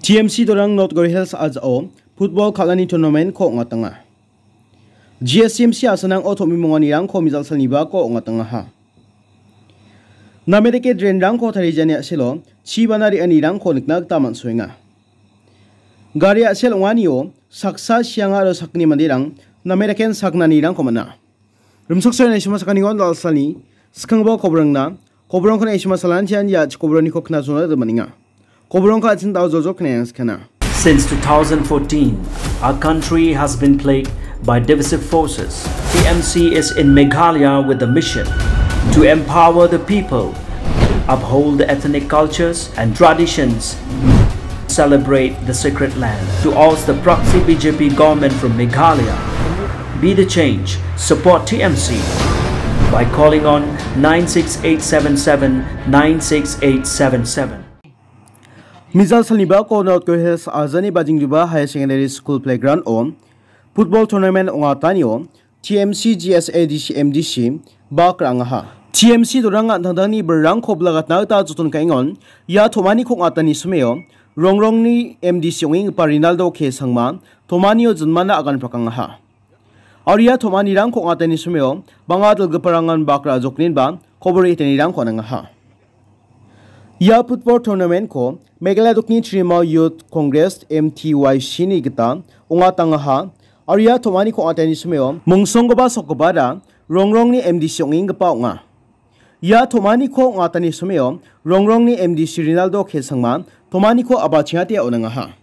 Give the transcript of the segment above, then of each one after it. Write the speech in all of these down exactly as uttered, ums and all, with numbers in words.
T M C dorang North Garo Hills a·jao football kal·ani tournament-ko ong·atanga. G S M C a·sanango tom·bimonganirangko mijal salnibako ong·atangaha. Name dake drain-rangko tarijani a·selo chibana re·anirangko nikna gita man·soenga. Gari a·sel ong·anio saksa sianga aro sakgni manderang name daken sakgnanirangko man·a. Rimchaksoe naisima sakanigon dal·salni skanggipa kobrangna kobrangko naisima salantian ia chikobrangko knasona gita man·enga. Kobrangko an·ching dao joljol knaiang skana. Since two thousand fourteen, our country has been plagued by divisive forces. T M C is in Meghalaya with the mission to empower the people, uphold the ethnic cultures and traditions, celebrate the sacred land, to oust the proxy B J P government from Meghalaya. Be the change. Support T M C by calling on nine six eight seven seven nine six eight seven seven. Mijal salnibako North Garo Hills a·jani Bajingjuba Higher Secondary School playground-o football tournament ong·atanio T M C, G S A D C, M D C bak ra·angaha. T M C dorang an·tangtangni birrangko bilagatna gita joton ka·engon. Ia tom·ani kong·atani someo Rongrongni M D C ong·enggipa Rinaldo K Sangma tomanio jinmana agan prakangaha. Aro ia tom·anirangko ong·atani someo bang·a dilgiparangan bak ra·jokninba kobor etanirangko on·angaha. Ia football tournament-ko Meghalaya Dokni Trinamool Youth Congress, M T Y C-ni gita ong·atangaha. Aro ia tom·ani kong·atani someo mongsonggipa sokgipara Rongrongni M D C ong·enggipa ong·a. Ia tom·aniko ong·atani someo Rongrongni M D C Rinaldo K Sangma tom·aniko a·bachengate on·angaha.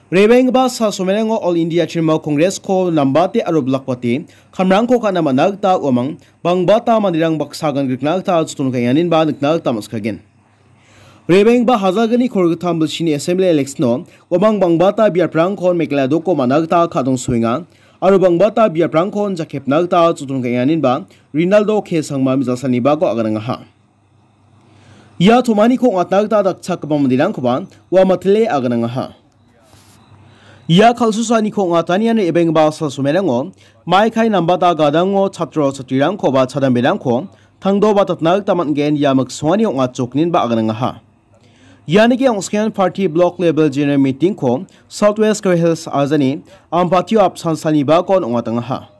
Rebenggipa sal somerango All India Trinamool Congress-ko nambate aro bilakbate kamrangko ka·na man·a gita uamang bangbata manderang baksa gan grikna gita joton ka·enganinba nikna gita man·sikagen. Rebenggipa hajalgni kolgittam bilsini assembly election-o uamang bangbata biaprangkon Meghalaya doko man·a gita ka·dongsoenga aro bangbata biaprangkon jakepna gita joton ka·enganinba Rinaldo K Sangma mijal salnibako aganangaha. Ia tom·aniko ong·atna gita dakchakgipa manderangkoba ua matile aganangaha. Ia kal·susaaniko ong·atanian re·baenggipa sal somerango maikai nambata gadango chatro chatrirangkoba chadamberangko tangdoba tatna gita man·gen ia miksongani ong·atjokninba aganangaha. Ianike ong·skengan party block level general meeting-ko South West Garo Hills a·jani Ampatio apsan salnibakon ong·atangaha.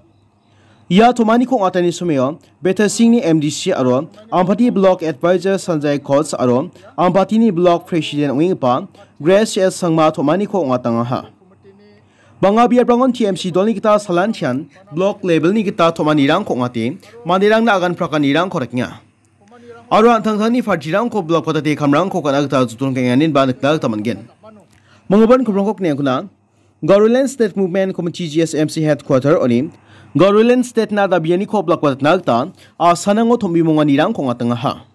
Ia tom·aniko ong·atani someo Betasingni M D C aro Ampati Block Advisor Sanjay Koch aro Ampatini Block President ong·enggipa Grace S Sangma tom·aniko ong·atangaha. Bang·a biaprangon T M C dolni gita salantian block levelni gita tom·anirangko ong·ate manderangna agan prakanirangko rekenga. Aro an·tangtangni partirangko block patate kamrangko ka·na gita joton ka·enganinba nikna gita man·gen. Manggipan kobrangko kniankuna Garoland State Movement Committee, G S M C headquarter-oni Garoland State-na dabianiko blakbatatna gita a·sanango tombimonganirangko ong·atangaha.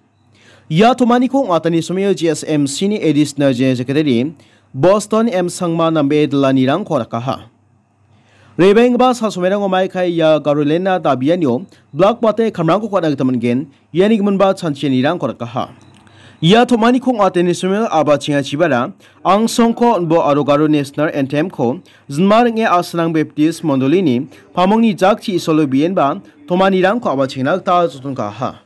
Ia tomaniko ong·atani somio G S M C-ni Additional General Secretary Boston M Sangma nambe dilanirangko rakaha. Rebenggipa sal somerango maikai ia Garoland-na dabianio blakbate kamrangko ka·na gita man·gen. Iani giminba chanchianirangko rakaha. Ia tomaniko ong·ateni somel aba chingachibara angsongko on·bo aro Garo National Anthem-ko jinma ring·e a·sanang Baptist Mondolini pamongni jakchi isolo bienba tomanirangko aba chingna gita joton ka·aha.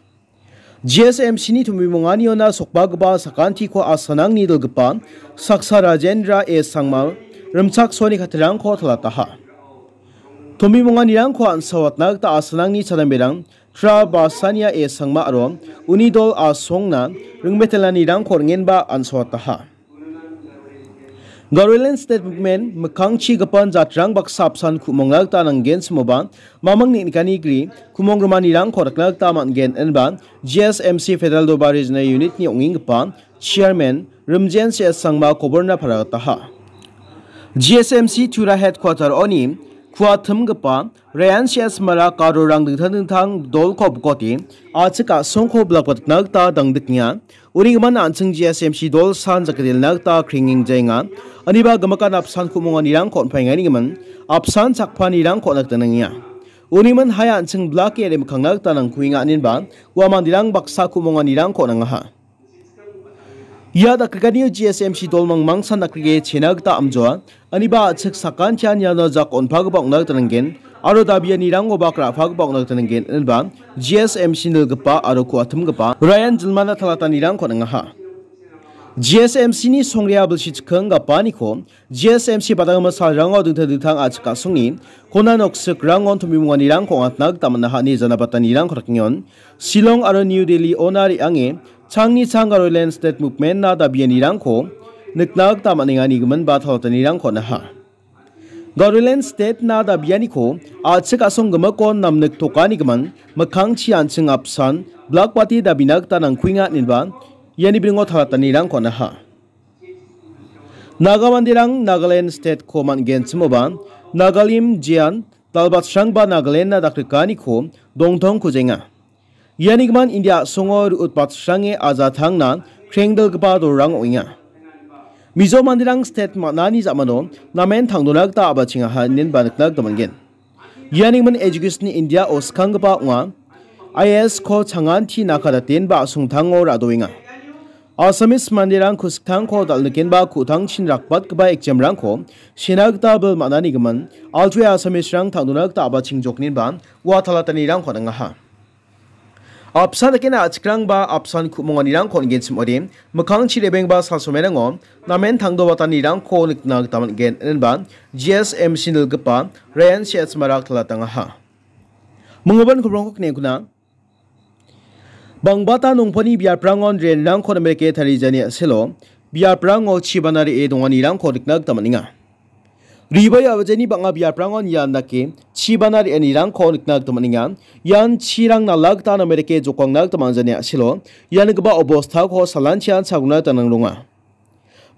G S M C-ni tombimonganiona sokbagipa sakantiko a·sanangni dilgipa saksa Rajendra A Sangma rimchaksoani kattarangko talataha. Tombimonganirangko an·sawatna gita a·sanangni chadamberang Tra Basania A Sangma aro uni dol a·songna ringmetelanirangko ringenba an·sawataha. Garoland State Movement mikkangchi gipan jatrang baksa apsan ku·mongna gita nanggen simoba, maming neng·nikani gri ku·mong rimanirangko rikna gita man·gen inba G S M C Federal Doba Regional Unit-ni ong·enggipa Chairman Rimjen C S Sangma koborna paragataha. G S M C Tura Headquarter-oni kuatimgipa Ryan C S Mara Garorang dingtang dingtang dolko bikote a·chik a·songko blakbatatna gita dangdiknga. Uni gimin an·ching G S M C dol san jakdelna gita krengeng jaenga. Aniba gimikan apsan ku·monganirangko on·paengani gimin apsan chakpanirangko on·a gita nangenga. Uni gimin hai an·ching blake ere mikkangna gita nangkuenga aninba ua manderang baksa ku·monganirangko on·angaha. Ia dakgrikanio G S M C dol mangmangsan dakgrike chena gita amjoa, aniba a·chik sakantian iano jak on·pagipa ong·na gita nanggen, aro dabianirango bak ra·pagipa ong·na gita nanggen, inba G S M C nilgipa aro ku·atimgipa Ryan Jilmana talatanirangko on·angaha. G S M C-ni songrea bilsi chikking gapaniko G S M C badanggimin salrango dingtang dingtang a·chik a·songni kona noksik rangon tombimonganirangko ong·atna gita man·aha ine janabatanirangko dakengon. Shillong aro New Delhi-ona re·ange changni chang Garoland State Movement-na dabianirangko nikna gita man·enga ine gimin ba talatanirangko on·aha. Garoland State-na dabianiko a·chik a·song gimikon namniktoka ine gimin mikkangchi an·ching apsan Black Party dabina gita nangkuenga ineba iani biringo talatanirangko on·aha. Naga manderang Nagaland State-ko man·genchimoba Nagalim jean dalbatsrangba Nagaland-na dakrikaniko dongtong kujenga. Iani gimin India a·songo ru·utbatsrange ajatangna krengdilgipa dolrang ong·enga. Mizo manderang state man·ani ja·mano namen tangdona gita a·bachengaha inenba nikna gita man·gen. Iani gimin Education India-o skanggipa ong·a. I A S-ko changanti nakadatenba a·songtango ra·doenga. Assamese manderang kusiktangko dal·nikenba ku·tangchin rakbatgipa exam-rangko sena gita bil man·ani gimin altuwe Assamese-rang tangdona gita a·bachengjoknenba ua talatanirangko on·angaha. Apsan dakena a·chikrangba apsan ku·monganirangko on·genchim ong·ode, mikkangchi rebengba salsomerango namen tangdobatanirangko nikna gita man·gen, inenba G S M C nilgipa Ryan Setsmarak talatangaha. Minggipa ku·rangko knekkuna. Bangbata nongponi biaprangon drain-rangko namerike tarijani a·selo biaprango chibana re·e donganirangko nikna gita man·enga. Ribai a·bajeni bang·a biaprangon ian dake chibana re·anirangko nikna gita man·enga. Ian chirang nala gita namerike jokangna gita man·jani a·selo ianigipa obostako salanchian chagrona gita nangronga.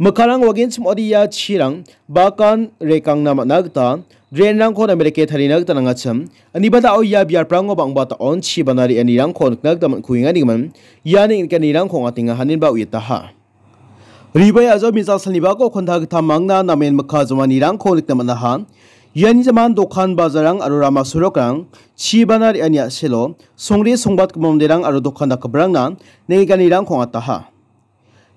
Mikkangrang wagenchim ong·ode ia chirang bakan rekangna man·a gita drain-rangko namerike tarina gita nangachim. Aniba da·o ia biaprango bang·ba ta·on chibana re·anirangko nikna gita man·kuenga ine gimin iani nikanirangko ong·atenga inenba uiataha. Ribai a·jao mijal salnibako konta gita mangna namen mikka jomanirangko nikna man·aha. Iani jaman dokan bajarrang aro rama sorokrang chibana re·ani a·selo songre songbatgipa manderang aro dokan dakgiparangna neng·ekanirangko ong·ataha.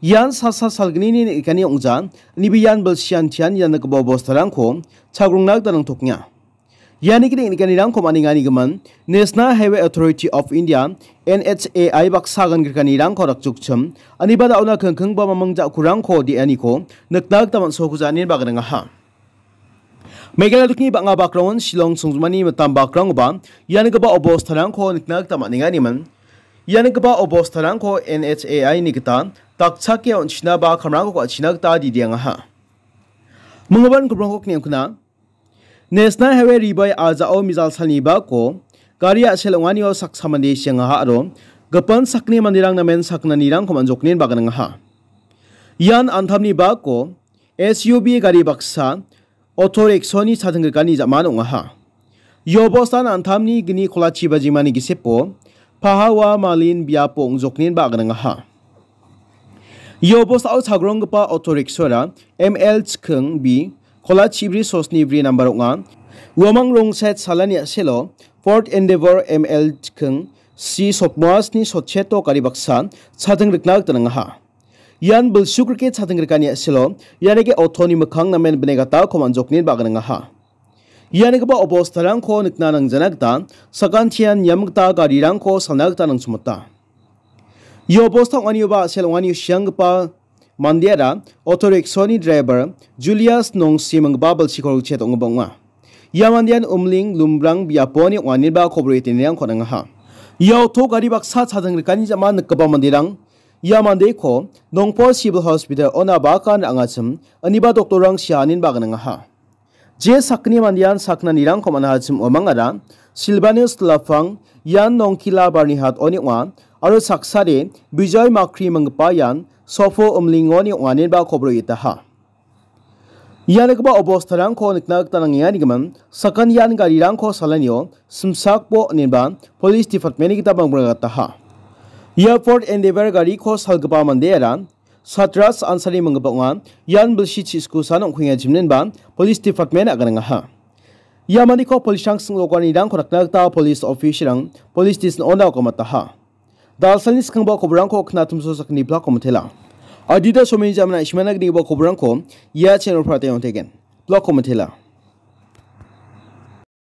Ian sasa salgnini neng·ekani ong·ja, iniba ian bilsian tian ian dakgipa bostarangko chagrongna gita nangtokenga. Iani gita neng·ekanirangko man·enga ine gimin, National Highway Authority of India, N H A I baksa agan grikanirangko dakjokchim, aniba da·ona kengkengba mamang ja·kurangko de·aniko nikna gita man·sokuja inenba gnangaha. Meghalaya dokni bang·a bakrangon Shillong songjinmani mitam bakrangoba ianigipa obostarangko nikna gita man·enga ine gimin, ianigipa obostarangko N H A I-ni gita dakchake on·china ba kamrangko ka·china gita didiangaha. Minggipa ku·rangko knekkuna. National Highway Ribai a·jao mijal salnibako gari a·sel ong·anio saksa mande siangaha aro gipin sakni manderang namen sakgnanirangko man·joknenba gnangaha. Ian antamni bako S U V gari baksa auto rickshaw-ni chadenggrikani ja·man ong·aha. Ia obostan antamni gni kolachi bajimani gisepo Pahawa Malin biapo ong·joknenba gnangaha. Ia obostao chagronggipa auto rickshaw-ra M L chikking B, kola chibri sosni bri nambar ong·a. Uamang rongset salani a·selo Ford Endeavour M L chikking C sotmoasni sotcheto gari baksa chadeng rikna gita nangaha. Ian bilsuk rike chadeng rikani a·selo ianike auto-ni mikkang namen bine gatako man·joknenba gnangaha. Ianigipa obostarangko nikna nangjana gita sakantian niam gita garirangko salna gita nangchimota. Ia obosta ong·anioba a·sel ong·anio sianggipa mandeara auto rickshaw-ni driver Julius Nongsi minggipa bilsiko rikchet ong·gipa ong·a. Ia mandean Umling Lumbrang biaponi ong·aniba kobor etenirangko nangaha. Ia auto gari baksa chadeng rikani ja·man nikgipa manderang ia mandeko Nongpol Civil Hospital-ona bakan ra·angachim, iniba doktorrang sianinba gnangaha. Je sakgni mandean sakgnanirangko man·achim uamangara Silvanus Lapang, Ian Nongkila Barnihat oni ong·a, aro saksade Bijoy Makri minggipa ian Sofo Umlingoni ong·anenba kobor itaha. Ianigipa obostarangko nikna gita nangenga nigimin, sakan ian garirangko salanio simsakbo inenba Police Department-ni gita bangbra gataha. Ia Ford Endeavour gariko salgipa mandeara Satras Ansari minggipa ong·a, ian bilsi chiskusan ong·kuenga jimnenba Police Department aganangaha. Ia mandeko police-rang sing·dokanirangko rakna gita police officer-rang police station-ona okamataha. Dalsalni skangba koborangko knatumso sakni blako mitela. Adita someni jamna ishmana gnigipa koborangko ia channel-o prate ong·teken. Blako mitela.